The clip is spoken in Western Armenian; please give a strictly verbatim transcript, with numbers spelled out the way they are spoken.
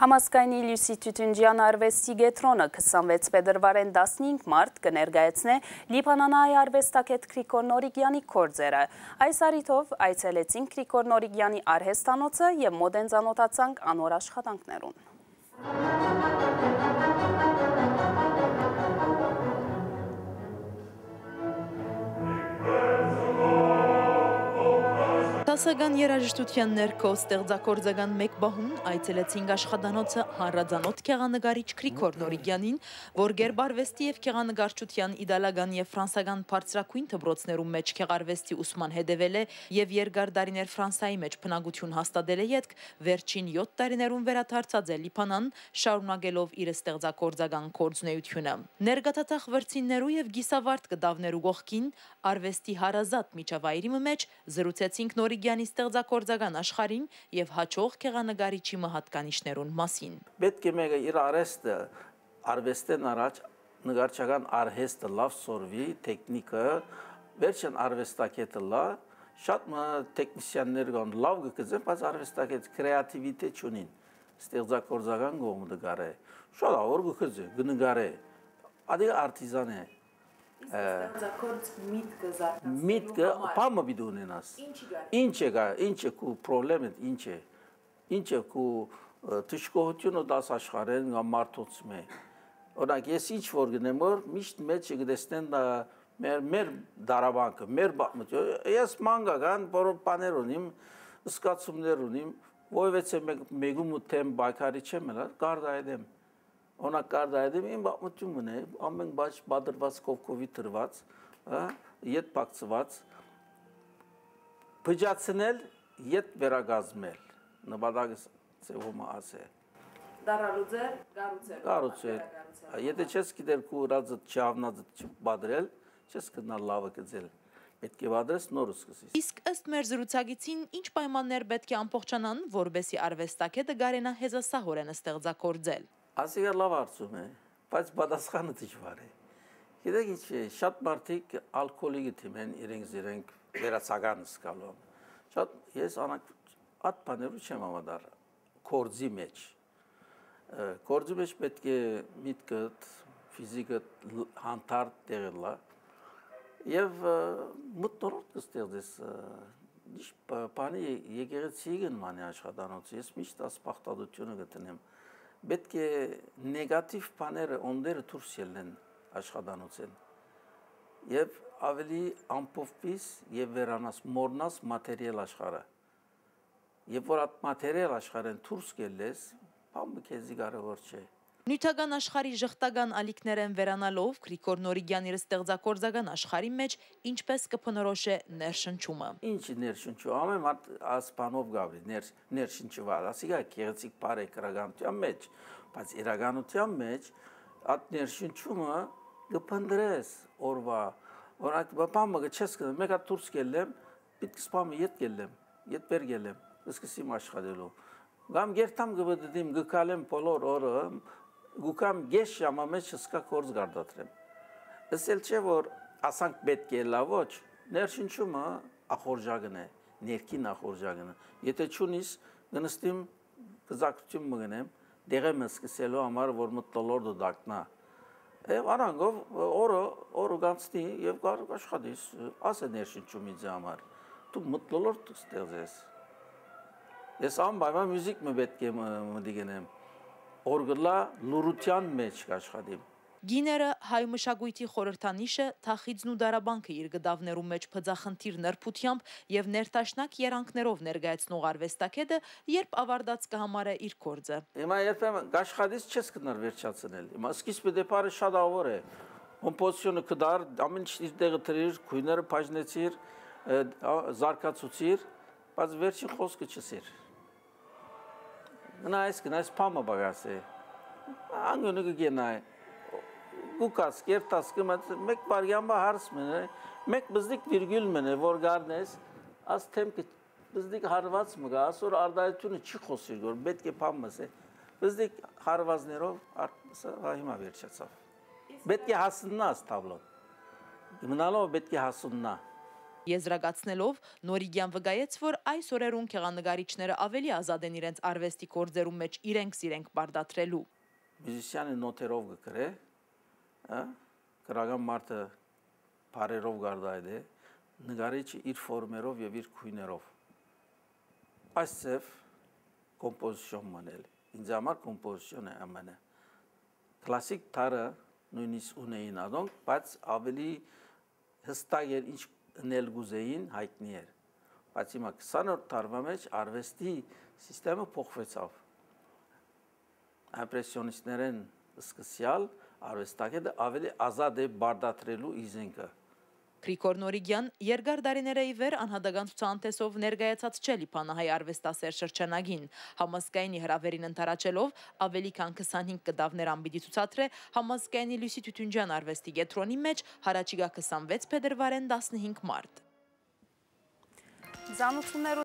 Համազգայինի Լիւսի Թիթունջեան արուեստի կեդրոնը քսանվեց փետրուարէն տասնհինգ մարտ կը ներկայացնէ լիբանանահայ արուեստագէտ Գրիգոր Նորիկեանի գործերը։ Այս առիթով այցելեցինք Գրիգոր Նորիկեանի արհեստանոցը եւ մօտէն ծանօթացանք անոր աշխատանքներուն։ Դասական երաժշտութեան ներքո ստեղծագործական մէկ պահուն այցելեցինք աշխատանոցը հանրածանօթ գեղանկարիչ Գրիգոր Նորիկեանին, որ գերբարուեստի եւ գեղանկարչութեան իտալական եւ ֆրանսական բարձրագոյն դպրոցներու մէջ գեղարուեստի ուսման հետեւել է եւ երկար տարիներ Ֆրանսայի մէջ բնակութիւն հաստատելէ ետք վերջին յոթ տարիներուն վերադարձած է Լիբանան, շարունակելով իր ստեղծագործական գործունեութիւնը։ Ներգաթաթախ վրձիններու եւ կիսավարդ կտաւներու կողքին արուեստի հարազատ միջավայրի մը մէջ զրուցեցինք Նորիկեանի ստեղծագործական աշխարհին եւ յաջող գեղանկարիչի մը յատկանիշներուն մասին։ Պէտք է մէկը իր արհեստը, արուեստէն առաջ նկարչական արհեստը լաւ սորվի, թեքնիկը, վերջին արուեստագէտը լա, շատ մը թեքնիսիաններ կան, լաւ կը գծեն, բայց արուեստագէտ կրեատիվիտետ չունին, ստեղծագործական կողմը կը կարէ, շատ աղոր կը գծէ, կը նկարէ, ադի արտիզան է։ Իսկ ստեղծագործ միտքը զարգացնելու միտքը համար պամը պիտի ունենաս։ Ինչի՞ գա։ Ինչ է գա, ինչ է քու պրոբլեմը, ինչ է, ինչ է քու, ը, դժգոհությունը դաս աշխարհեն կամ մարդոց մէ։ Օրինակ, ես ինչ որ գնեմ որ, միշտ մեջը կտեսնեն դա մեր, մեր դարաբանքը, մեր պատմությունը։ Ես մանկական որոշ բաներ ունիմ, զգացումներ ունիմ, որևէցէ մեկ, մեկու մը թեմ պայքարի չեմ ելա, կարդայ դեմ։ Օրինակ, կարդայ դեմ իմ պատմություն մնե, ամեն բաջ պատրված, կովկովի դրված, ը, ետ փակցված, փճացնել, ետ վերակազմել, նպատակս ձևումը ասե։ Դարալուծել, կառուցել, կառուցել։ Վերակառուցել։ Եթե չես գիտեր քու ուրածը չհավնածը չպադրել, չես գնալ լավը գծել։ Պետք է պատրես նոր սկսես։ Իսկ ըստ մեր զրուցակիցին, ինչ պայմաններ պէտք է ամբողջանան, որպեսզի արուեստագէտը կարենայ հեզասահորեն ստեղծագործել։ Ասիկա լաւ հարցում է, բայց պատասխանը դժվար է։ Գիտեք ինչ է, շատ մարդիկ ալկոհոլի կը դիմեն իրենք զիրենք վերացական զգալով։ Շատ, ես անակ-, այդ բաներու չեմ համադար գործի մեջ։ Ը, գործի մեջ պետք է միտքդ, ֆիզիկդ լ-, հանդարտ տեղը լա։ Եւ, ը, մթնոլորտ կը ստեղծես, ը, միշտ բ-, բանի ե-, եկեղեցի կը նմանի աշխատանոցը։ Ես միշտ աս բաղդատությունը կը դնեմ։ Պետք է նեգատիվ բաները, օնդերը դուրս ելնեն աշխատանոցեն։ Եւ ավելի ամփոփվիս եւ վերանաս, մոռնաս մատերիալ աշխարհը։ Երբ որ այդ մատերիալ աշխարհեն դուրս կելլես, բան մը քեզի կարևոր չէ։ Նիւթական աշխարհի ժխտական ալիքներէն վերանալով, Գրիգոր Նորիկեան իր ստեղծագործական աշխարհի մէջ ինչպէս կը բնորոշէ ներշնչումը։ Ինչ ներշնչում, ամեն մարդ ասպանով գաբրի, ներ-, ներշնչուած, ասիկա գեղեցիկ բարեգրականության մեջ, բայց իրականության մեջ այդ ներշնչումը կը փնտրես օրվա, օրինակ, բան մը կը չես գնա, մեկ հատ դուրս կելլեմ, պիտի սպամ ետ կելլեմ, ետ վեր կելլեմ, սկսեմ աշխատելու։ Կամ գերտամ կը բդդիմ, կը քալեմ բոլոր օրը, կու կամ գեշ ժամա մեջ հսկա կորձ կարտադրեմ։ Ըսել չէ, որ ասանք պետք է լա, ոչ, ներշնչումը ախորժակն է, ներքին ախորժակն է։ Եթե չունիս, կնստիմ, կզակցություն մը գնեմ, դեղը մը սկսելու համար, որ մթնոլորտը դակնա։ Եվ արանգով օրը, օրը գանցնի եւ կար աշխատիս, ասե ներշնչում ինձ համար։ Դու մթնոլորտ ստեղծես։ Ես անպայման մյուզիք մը պետք է մտի գնեմ։ Օր գլա լուրության մեջ կաշխատիմ։ Գիները հայ մշակոյթի խորհրդանիշը, թախիծն ու դարաբանքը իր գդավներու մեջ բծախնդիր նրբութեամբ եւ ներդաշնակ երանգներով ներկայացնող արուեստագետը, երբ ավարտած կը համարէ իր գործը։ Հիմա երբեմն կաշխատից չես գնար վերջացնել։ Հիմա սկիզբը դեպարը շատ ավոր է։ Կոմպոզիցիոնը կդար, ամեն ինչ իր տեղը դրիր, գույները բաժնեցիր, ը, ա, զարգացուցիր, բայց վերջին խոսքը չսիր։ Գնայ ես, գնայ ես, փամը բագաս է։ Անգունը կը գնայ։ Կուկաս, կերտաս, կմած, մեկ վարյան բա հարց մնե, մեկ բզդիկ վիրգուլ մնե, որ գարնես, աս թեմքը բզդիկ հարված մը գա, ասոր արդայությունը չի խոսիր, որ պետք է փամս է։ Բզդիկ հարվածներով արդ-, սա հիմա վերջացավ։ Պետք է հասննաս թաբլոն։ Մնալով պետք է հասննա։ Եզրակացնելով, Նորիկեան վկայեց, որ այս օրերուն գեղանկարիչները աւելի ազատ են իրենց արուեստի գործերուն մէջ իրենք զիրենք պարտադրելու։ Միւզիսիանը նոթերով կը գրէ, հա, գրական մարդը բառերով կ'արտայայտէ, նկարիչը իր ֆորմերով եւ իր գոյներով։ Այս ձեւ կոմպոզիցիոն մըն է։ Ինձ համար կոմպոզիցիոն է ամէնը։ Կլասիկ տառը նոյնիսկ ունէին ատոնք, բայց աւելի յստակ էր ինչ ընել կ'ուզէին, յայտնի էր։ Բայց հիմա քսանորդ դարուա մէջ արուեստի սիստեմը փոխուեցաւ։ Իմպրեսիոնիստներէն սկսեալ արուեստագետը աւելի ազատ է պարտադրելու իր զենքը։ Գրիգոր Նորիկեան երկար տարիներէ ի վեր անհատական ցուցահանդէսով ներկայացած չէ Լիբանահայ արուեստասէր շրջանագին։ Համազգայինի հրաւէրին ընդառաջելով, աւելի քան քսանհինգ կտաւներ ան պիտի ցուցադրէ Համազգայինի Լիւսի Թիթունջեան արուեստի կեդրոնի մէջ յառաջիկայ քսանվեց փետրուարէն տասնհինգ մարտ։ Ծանուցումներու